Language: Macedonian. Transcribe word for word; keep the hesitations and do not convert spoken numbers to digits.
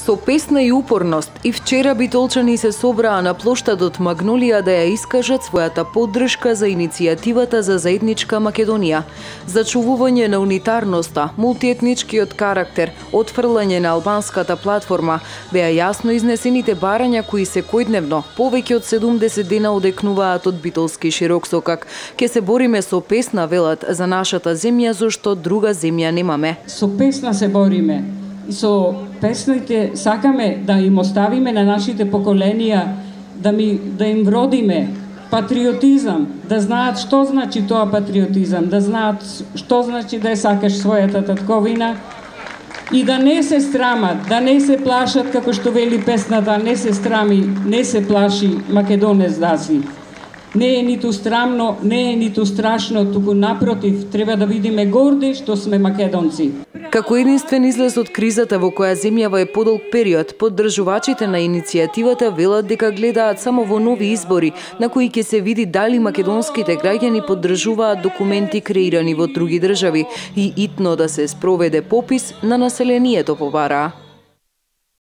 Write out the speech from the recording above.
Со песна и упорност и вчера битолчани се собраа на плоштадот Магнолија да ја искажат својата поддршка за иницијативата за заедничка Македонија, зачувување на унитарноста, мултиетничкиот карактер, отфрлање на албанската платформа, беа јасно изнесените барања кои секојдневно повеќе од седумдесет дена одекнуваат од битолски широксокак. Ке се бориме со песна, велат, за нашата земја, зашто друга земја немаме. Со песна се бориме. И со песните сакаме да им оставиме на нашите поколенија, да, ми, да им вродиме патриотизам, да знаат што значи тоа патриотизам, да знаат што значи да ја сакаш својата татковина и да не се страмат, да не се плашат, како што вели песната, не се страми, не се плаши македонец даси. Не е ниту страмно, не е ниту страшно, туку напротив, треба да видиме горди што сме македонци. Како единствен излез од кризата во која земјава е подолг период, поддржувачите на иницијативата велат дека гледаат само во нови избори, на кои ќе се види дали македонските граѓани поддржуваат документи креирани во други држави и итно да се спроведе попис на населението, побараа.